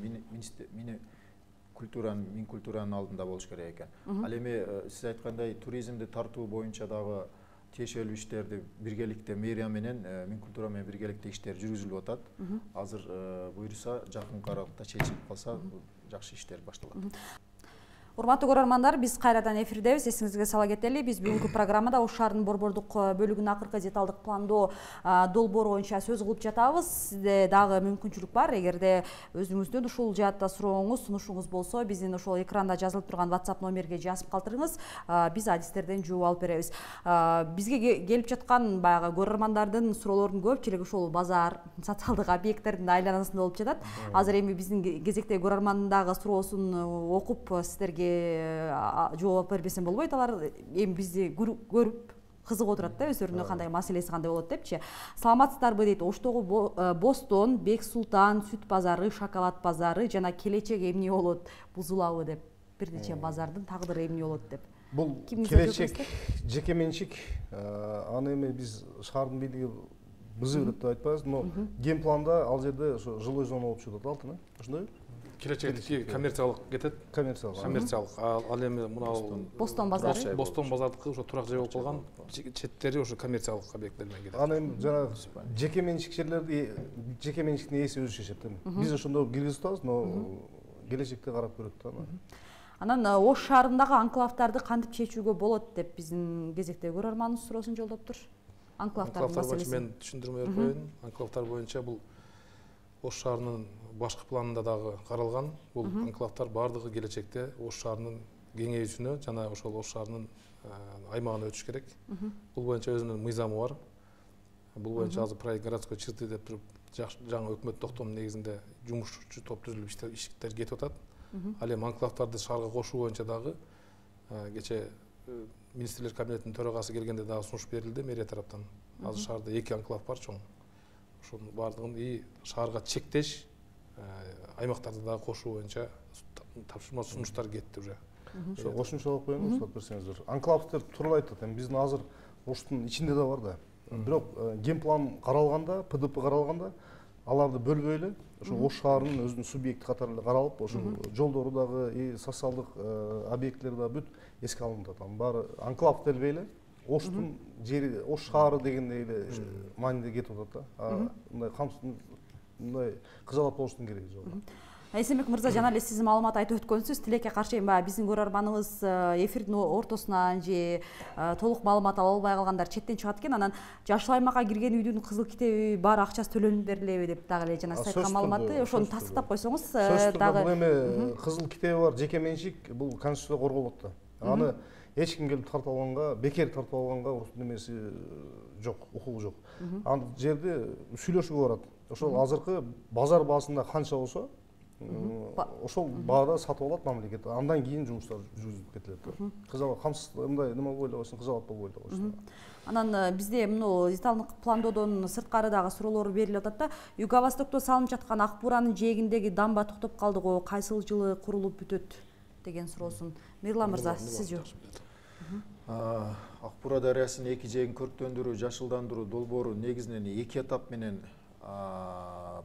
Минкультуранын алдында болуш керек экен. Ал эми сиз айткандай туризмди тартуу боюнча дагы тиешелүү иштерди биргеликте мэрия менен Минкультура менен биргеликте иштер жүргүзүлүп атат. Азыр буюрса жакынкы аралыкта чечилип калса жакшы иштер башталат. Урматтуу көрөрмандар, биз кайрадан эфирдебиз. Эсиңизге сала кетели, биз бүгүнкү программада Ош шаарынын борбордук бөлүгүнүн акыркы деталдык пландоо долбоору боюнча сөз кылып жатабыз. Сизде дагы мүмкүнчүлүк бар. Эгерде өзүңүздүн ушул жаатта сурооңуз, сунушуңуз болсо, биздин ошол экранда жазылып турган WhatsApp номерге жазып калтырыңыз. Биз адистерден жооп алып беребиз. Бизге келип жаткан баягы көрөрмандардын суроолорунун көпчүлүгү ушул базар, социалдык объекттердин айланасында болуп жатат. Азыр эми биздин кезектеги көрөрмандын дагы суроосун окуп сиздерге жооп бербесем болбойт. Алар эми бизди көрүп кызыгып отурат да, өздөрүнүн кандай маселеси кандай болот депчи. Саламатсыздарбы дейт. Оштогу Бостон, Бек Султан, сүт базары, шоколад базары жана келечек эмне болот, бузулабы деп. Бир нече базардын тагдыры эмне болот деп. Бул келечек жеке менчик, аны эми биз шаардын бийлиги бузуу деп айтпайбыз, но геймпланда ал жерде ошо жилой зона болуп чыгып атат, алтын, ошондойбу? Келечекти коммерциялык кетет. Коммерциялык. Ал эми мына Бостон базары. Бостон базардыкы ошо турак жай болуп калган, четтери ошо коммерциялык объекттер менен кетет. Аны эми жана жеке менчик жерлерди жеке менчиктин ээси өзү чечет да. Биз ошондо киргизип атабыз, но келечекте карап көрөт да. Анан Ош шаарындагы анклавдарды кантип чечүүгө болот деп биздин кезектеги көрөрманыбыз суроосун жолдоптур. Анклавдардын маселеси. Мен түшүндүрмө берип коеюн. Анклавдар боюнча бул Ош шаарынын башкы планында дагы каралган. Бул анклавдар бардыгы келечекте Ош шаарынын кеңейүүсүнө жана ошол Ош шаарынын аймагына өтүш керек. Бул боюнча өзүнүн мыйзамы бар. Бул боюнча азыр проект городской черты деп туруп жаңы өкмөт токтомунун негизинде жумушчу топ түзүлүп иштер кетип атат. Ал эми анклавдарды шаарга кошуу боюнча дагы кече министрлер кабинетинин төрагасы келгенде дагы сунуш берилди мэрия тараптан. Азыр шаарда 2 анклав бар чоң. Ошонун бардыгын шаарга чектеш аймактарды дагы кошуу боюнча тапшырма сунуштар кетти уже. Ошо кошумча кылып коеюн, уруксат берсеңиздер. Анклавдер тууралуу айтат. Эми биздин азыр Оштун ичинде да бар да. Бирок геймплан каралганда, ПДП каралганда аларды бөлбөй эле ошо Ош шаарынын өзүнүн субъекти катары эле каралып, ошо жолдору дагы, социалдык объекттер да бүт эске алынып атат. Баары анклав делбей эле Оштун жери, Ош шаары дегендей эле мааниде кетип атат да. Мындай мындай кызалат болуштун кереги жок. Эсенбек мырза, жана эле сиз маалымат айтып өткөнсүз, тилекке каршы баягы биздин көрөрманыбыз эфирдин ортосунан же толук маалымат ала албай калгандар четтен чыгат экен. Анан жашыл аймакка кирген үйдүн кызыл китеби бар, акчасы төлөнүп берилеби деп дагы эле жана сиз айткан маалыматты ошону тастыктап койсоңуз дагы. Бул эми кызыл китеби бар жеке менчик, бул конституцияда корголот да. Аны эч ким келип тартып алганга, бекер тартып алганга немеси жок, укугу жок. Ал жерде сүйлөшүүгө барат. Ошол азыркы базар баасында канча болсо, ошол баада сатып алат мамлекет. Андан кийин жумуштар жүргүзүлүп кетилет. Кызалат камсыз мындай нема болбой эле койсун, кызалат болбой эле койсун. Анан бизде мына деталдык пландоодон сырткары дагы суроолор берилип атат да. Юго-Востокто салынып жаткан Ак Буранын жээгиндеги дамба токтоп калды го, кайсыл жылы курулуп бүтөт деген суроосун Мирлан мырза сиз жок. Ак Бура дарыясынын эки жээгин көрктөндүрүү, жашылдандыруу долбоору негизинен 2 этап менен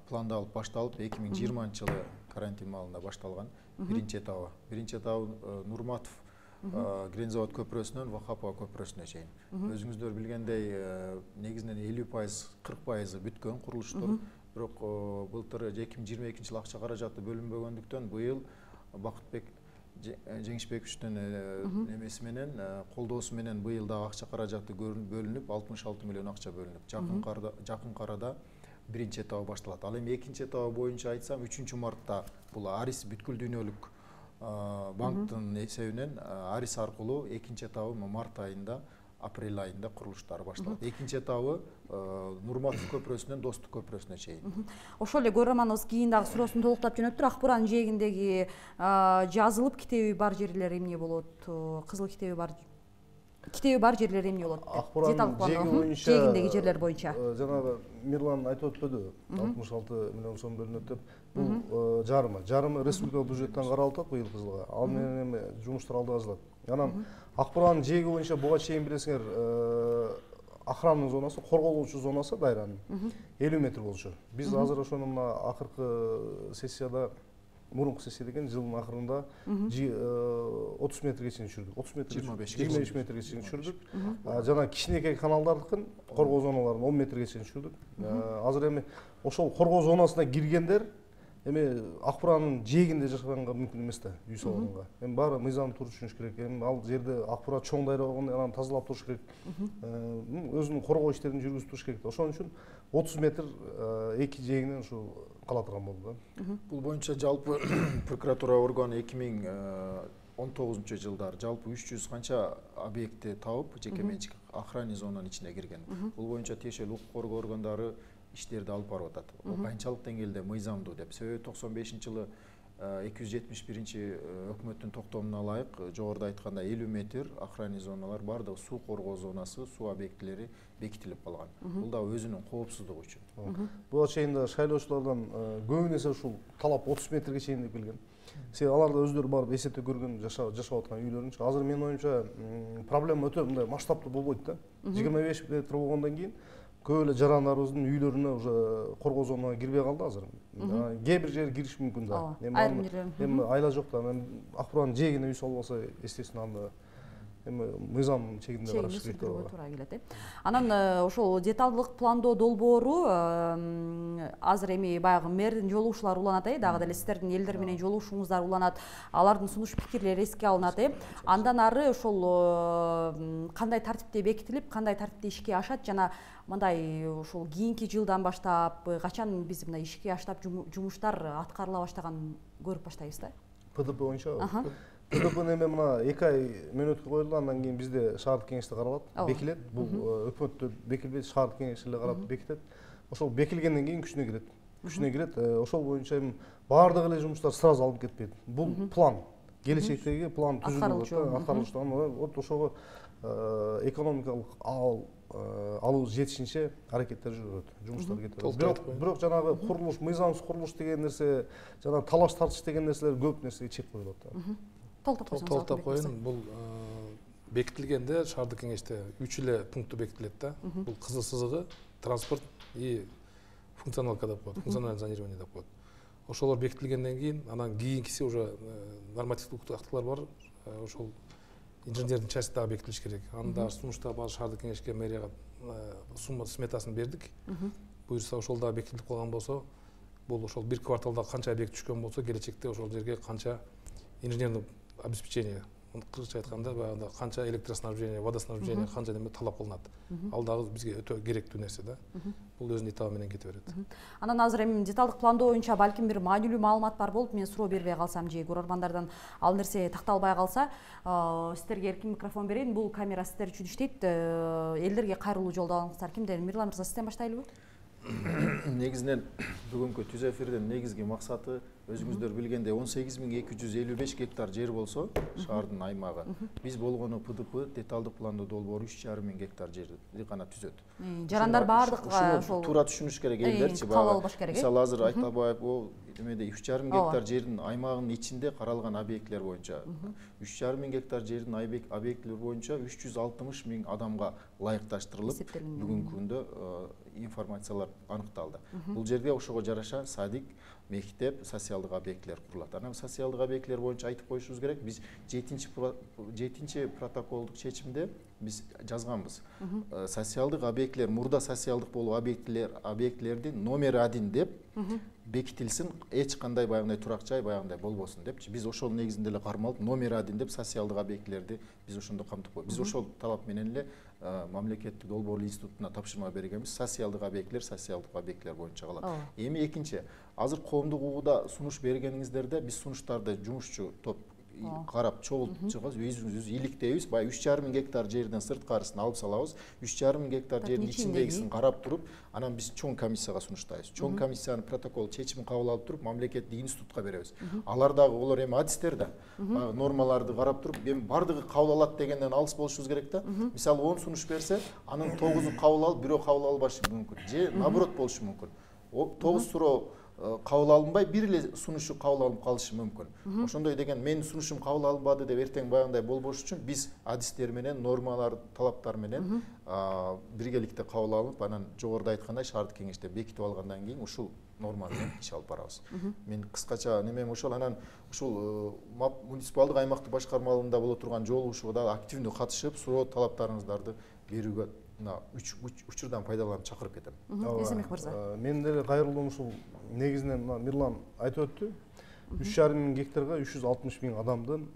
пландалып башталып 2020-жылы карантин маалында башталган. Биринчи этабы Нурматов Грензавод көпүрөсүнөн Вахапова көпүрөсүнө чейин. Өзүңүздөр билгендей, негизинен 50%, 40% бүткөн курулуштар. Бирок былтыр 2022-жылы акча каражаты бөлүнбөгөндүктөн быйыл Бакытбек Жеңишбековичтин немеси менен колдоосу менен быйыл дагы акча каражаты бөлүнүп 66 миллион акча бөлүнүп. Жакын арада биринчи этабы башталат. Ал эми экинчи этабы боюнча айтсам 3-мартта бул Арис бүткүл дүйнөлүк банктын эсебинен Арис аркылуу экинчи этабы март айында, апрель айында курулуштары башталат. Экинчи этабы Нурматов көпүрөсүнөн Достук көпүрөсүнө чейин. Ошол эле көрөрманыбыз кийин дагы суроосун толуктап жөнөттүр. Ак Буранын жээгиндеги жазылып китеби бар жерлер эмне болот? Кызыл китеби бар жерлер эмне болот? Ак Буранын жээгиндеги жерлер боюнча. Жанагы Мирлан айтып өтпөдү, 66 миллион сом бөлүнөт деп. Бул жарымы республикалык бюджеттен каралып атат быйылкы жылга. Ал менен эми жумуштар алда бажалат. Анан Ак Буранын жээги боюнча буга чейин билесиңер, охранный зонасы, корголуучу зонасы дайранын 50 метр болчу. Биз азыр ошону мына акыркы сессияда, мурунку сессия деген жылдын акырында 30 метрге чейин түшүрдүк. 30 метр, 25 метрге чейин түшүрдүк. Жана кичинекей каналдардыкын коргоо зоналарын 10 метрге чейин түшүрдүк. Азыр эми ошол коргоо зонасына киргендер эми Ак Буранын жээгинде жашаганга мүмкүн эмес да, үй салганга. Эми баары мыйзамды туура түшүнүш керек. Эми ал жерде Ак Бура чоң дайра болгондо анан тазалап туруш керек. Өзүнүн коргоо иштерин жүргүзүп туруш керек. Ошон үчүн 30 метр эки жээгинен ушу кала турган болду да. Бул боюнча жалпы прокуратура органы 2019 жылдары жалпы 300 канча объектти табып, жеке менчик охранный зонанын ичине кирген. Бул боюнча тиешелүү укук коргоо органдары иштерди алып барып атат. Канчалык деңгээлде мыйзамдуу деп. Себеби 95-жылы 271-чи өкмөттүн токтомуна ылайык жогоруда айтканда 50 метр охранный зоналар бардыгы суу коргоо зонасы, суу объектилери бекитилип калган. Бул да өзүнүн коопсуздугу үчүн. Буга чейин да шайлоочулардан көбүнесе ушул талап 30 метрге чейин деп келген. Себеби алар да өздөрү барып эсептеп көргөн, жашап аткан үйлөрүнчү. Азыр менин оюмча проблема өтө мындай масштабтуу болбойт да. 25 метр болгондон кийин көп эле жарандарыбыздын үйлөрүнө уже коргоо зонага кирбей калды азыр. Кээ бир жери кириш мүмкүн да. Эми айла жок да. Ак Буранын жээгине үй салбаса, естественно, анда эми мыйзам чегинде караш керек да. Туура келет. Анан ошол деталдык пландоо долбоору азыр эми баягы мэрдин жолугушуулары уланат, дагы деле сиздердин элдер менен жолугушууңуздар уланат, алардын сунуш пикирлери эске алынат. Андан ары ошол кандай тартипте бекитилип, кандай тартипте ишке ашат жана мындай ушул кийинки жылдан баштап качан биз мына ишке аштап жумуштар аткарыла баштаганын көрүп баштайбыз да. ПДП боюнча ПДПнын эми мына 2 ай мөөнөткө коюлду, андан кийин бизде шаардык кеңеште каралат, бекилет. Бул өкмөттө бекилбейт, шаардык кеңеш эле карап бекитет. Ошол бекилгенден кийин күчүнө кирет. Ошол боюнча эми баардык эле жумуштар сразу алып кетпейт. Бул план, келечектеги план түзүлүп аткарылыштан. Вот ошого экономикалык алуу жетишинче аракеттер жүрөт, жумуштар кетет. Бирок жанагы курулуш, мыйзамсыз курулуш деген нерсе, жана талаш тартыш деген нерселер көп нерсеге чек коюлат да. Толтоп коеюн. Бул бекитилгенде шаардык кеңеште 3 эле пункты бекитилет да. Бул кызыл сызыгы, транспорт и функционалка деп коет, функциональное зонирование деп коет. Ошолор бекитилгенден кийин, анан кийинкиси уже нормативдик актылар бар. Ошол инженердин части дагы бекитилиш керек. Анда сунушта бар шаардык кеңешке, мэрияга сумма сметасын бердик. Буюрса ошол дагы бекитилип калган болсо, бул ошол бир кварталда канча объект түшкөн болсо, келечекте ошол жерге канча инженерный обеспечение, кыргызча айтканда баягы канча электроснабжение, водоснабжение, канча неме талап кылынат. Ал дагы бизге өтө керектүү нерсе да. Бул өзүнүн этабы менен кете берет. Анан азыр эми деталдык пландоо боюнча балким бир маанилүү маалымат бар болуп, мен суроо бербей калсам же көрөрмандардан ал нерсе такталбай калса, сиздерге эркин микрофон берейин. Бул камера сиздер үчүн иштейт. Элдерге кайрылуу жолдоо алыңыздар. Кимден? Мирлан мырза, сизден баштайлыбы? негизинен бүгүнкү түз эфирдин негизги максаты өзүңүздөр билгендей 18.255 гектар жер болсо шаардын аймагы, биз болгону ПДП деталдык пландоо долбоору 3,5 гектар жерди гана түзөт. Жарандар баардык ошол туура түшүнүш керек элдерчи. Кабыл албаш керек. Мисалы азыр Айтабаев эмеде 3,5 гектар жердин аймагынын ичинде каралган объектлер боюнча 3,5 гектар жердин объектлер боюнча 360 000 адамга ылайыкташтырылып бүгүнкү күндө информациялар аныкталды. Бул жерде ошого жараша садик, мектеп, социалдык объектлер курулат. Анан социалдык объектлер боюнча айтып коюшубуз керек, биз 7 протоколдук чечимде биз жазганбыз. Социалдык объектлер, мурда социалдык болуу объектлердин номер 1 деп бекитилсин, эч кандай баягындай турак жай баягындай болбосун депчи. Биз ошол негизинде эле кармалып номер 1 деп социалдык объектлерди биз ошондо камтып койдук. Биз ошол талап менен эле мамлекеттик долбоорлуу институтуна тапшырма бергенбиз. Социалдык объектлер боюнча калат. Эми экинчи, азыр коомдук угууда сунуш бергениңиздерде биз сунуштарды жумушчу топ карап чогултуп чыгабыз, өзүбүз иликтейбиз. Баягы 3,5 гектар жерден сырткарысын алып салабыз. 3,5 гектар жердин ичиндегисин карап туруп, анан биз чоң комиссияга сунуштайбыз. Чоң комиссиянын протокол чечимин кабыл алып туруп, мамлекеттик институтка беребиз. Алар дагы олар эми адистер да нормаларды карап туруп, эми бардыгы кабыл алат дегенден алыс болушубуз керек да. Мисалы 10 сунуш берсе, анын 9-у кабыл алып, бирөө кабыл албашы мүмкүн. Же наоборот болушу мүмкүн. 9 суроо кабыл алынбай, бир эле сунушу кабыл алынып калышы мүмкүн. Ошондой деген менин сунушум кабыл алынбады деп эртең баягындай болбош үчүн биз адистер менен, нормалар, талаптар менен биргеликте кабыл алып, анан жогоруда айткандай шаардык кеңеште бекитип алгандан кийин ушул норма менен иш алып барабыз. Мен кыскача немем ошол. Анан ушул муниципалдык аймактык башкармалыгында боло турган жолугушууга да активдүү катышып, суроо талаптарыңыздарды берүүгө учурдан пайдаланып чакырып кетем. Эсенбек мырза. Мен деле кайрылдым, ушул негизинен Мирлан айтып өттү. 3,5 гектарга 360 000 адамдын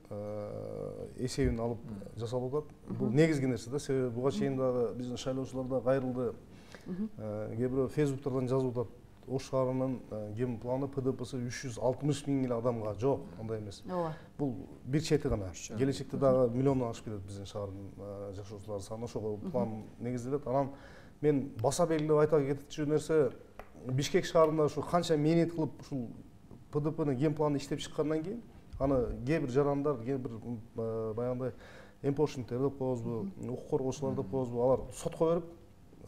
эсебин алып жасалып атат. Бул негизги нерсе да, себеби буга чейин дагы биздин шайлоочулар да кайрылды. Кээ бирөө фейсбуктардан жазып атат, Ош шаарынын генпланы ПДПсы 360 000 эле адамга. Жок, андай эмес. Бул бир чети гана. Келечекте дагы миллиондон ашып кетет биздин шаардын жашоочулар саны. Ошого план негизделет. Анан мен баса белгилеп айта кетчү нерсе, Бишкек шаарында ушу канча мээнет кылып ушул ПДПнын генпланын иштеп чыккандан кийин, аны кээ бир жарандар, кээ бир баягындай эмпошниктер деп коебузбу, укук коргоочулар деп коебузбу, алар сотко берип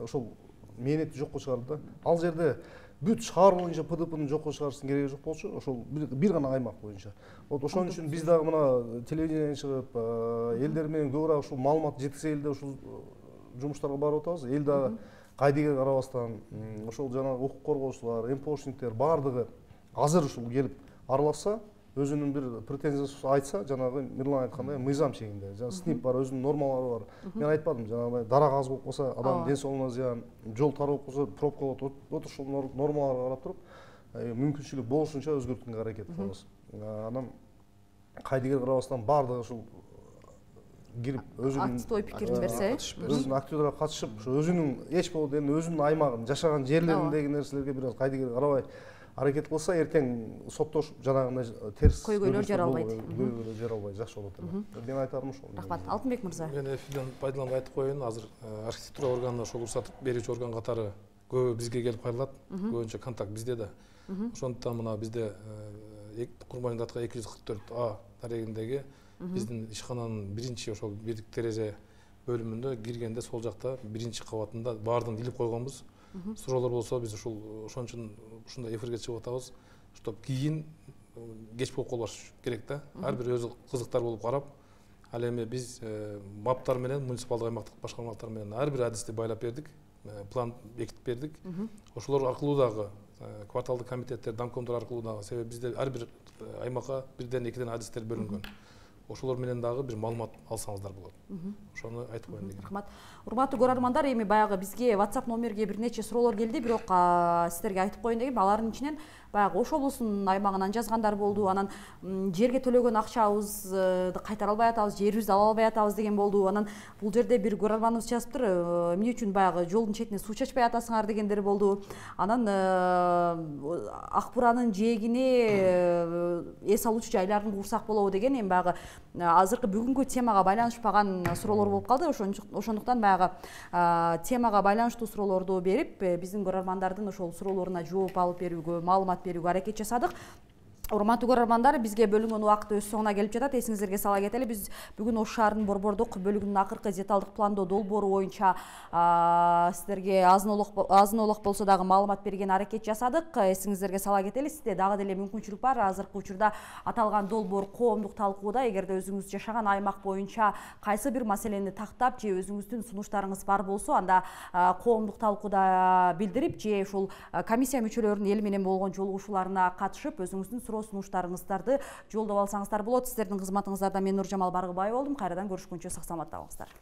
ошол мээнетти жокко чыгарды да. Ал жерде бүт шаар боюнча ПДПны жокко чыгарыштын кереги жок болчу, ошол бир гана аймак боюнча. Вот ошон үчүн биз дагы мына телевидениеге чыгып, элдер менен көбүрөөк ушул маалымат жеткизе элде ушул жумуштарга барып атабыз. Эл дагы кайдыгер карабастан, ошол жанагы укук коргоочулар, эмпошниктер бардыгы азыр ушул келип аралашса, өзүнүн бир претензиясын айтса, жанагы Мирлан айткандай мыйзам чегинде, жана СНИП бар, өзүнүн нормалары бар. Мен айтпадым, жанагы дарак аз болуп калса, адамдын ден соолугуна зыян, жол тар болуп калса, пробка болот. Вот ушул нормаларга карап туруп, мүмкүнчүлүк болушунча өзгөрткөнгө аракет кылабыз. Анан кайдыгер карабастан бардыгы ушул кирип өзүнүн активдүү ой пикирин берсе, өзүнүн активдүү катышып, ошо өзүнүн эч болбодо эми өзүнүн аймагын, жашаган жерлериндеги нерселерге бир аз кайдыгер карабай аракет кылса, эртең соттошуп жанагындай терс көйгөйлөр жаралбайт. Көйгөйлөр жаралбай жакшы болот эле. Мен айтарым ошол. Рахмат. Алтынбек мырза. Мен эфирден пайдаланып айтып коеюн, азыр архитектура органына ошол уруксат берүүчү орган катары көбү бизге келип кайрылат. Көбүнчө контакт бизде да. Ошондуктан мына бизде Курманбек атка 244А дарегиндеги биздин ишкананын биринчи ошол бирдик терезе бөлүмүндө киргенде сол жакта биринчи кабатында баардыгын илип койгонбуз. Суроолор болсо биз ошон үчүн ушундай эфирге чыгып атабыз, чтоб кийин кеч болуп калбаш керек да. Ар бир өзү кызыктар болуп карап, ал эми биз маптар менен, муниципалдык аймактык башкармалыктар менен ар бир адисти байлап бердик, план бекитип бердик. Ошолор аркылуу дагы кварталдык комитеттер, домкомдор аркылуу дагы, себеби бизде ар бир аймакка бирден экиден адистер бөлүнгөн. Ошолор менен дагы бир маалымат алсаңыздар болот. Ошону айтып коеюн дегем. Рахмат. Урматтуу көрөрмандар, эми баягы бизге WhatsApp номерге бир нече суроолор келди, бирок сиздерге айтып коеюн дегем. Алардын ичинен баягы Ош облусунун аймагынан жазгандар болду. Анан жерге төлөгөн акчабызды кайтара албай атабыз, жерибизди ала албай атабыз деген болду. Анан бул жерде бир көрөрманыбыз жазыптыр, эмне үчүн баягы жолдун четине суу чачпай атасыңар дегендер болду. Анан Ак Буранын жээгине эс алуучу жайларын курсак болобу деген, эми баягы азыркы бүгүнкү темага байланышпаган суроолор болуп калды. Ошондуктан баягы темага байланыштуу суроолорду берип, биздин көрөрмандардын ошол суроолоруна жооп алып берүүгө, маалымат берүүгө аракет жасадык. Урматтуу көрөрмандар, бизге бөлүнгөн убакыт өз соңуна келип жатат. Эсиңиздерге сала кетели, биз бүгүн Ош шаарынын борбордук бөлүгүнүн акыркы деталдык пландоо долбоору боюнча сиздерге азын олок болсо дагы маалымат берген аракет жасадык. Эсиңиздерге сала кетели, сизде дагы деле мүмкүнчүлүк бар. Азыркы учурда аталган долбоор коомдук талкууда. Эгерде өзүңүз жашаган аймак боюнча кайсы бир маселени тактап же өзүңүздүн сунуштарыңыз бар болсо, анда коомдук талкууда билдирип же ушул комиссия мүчөлөрүнүн эл менен болгон жолугушууларына катышып өзүңүздүн сунуштарыңыздарды жолдоп алсаңыздар болот. Сиздердин кызматыңыздарда мен Нуржамал Баргыбай болдум. Кайрадан көрүшкөнчө сак саламатта болуңуздар.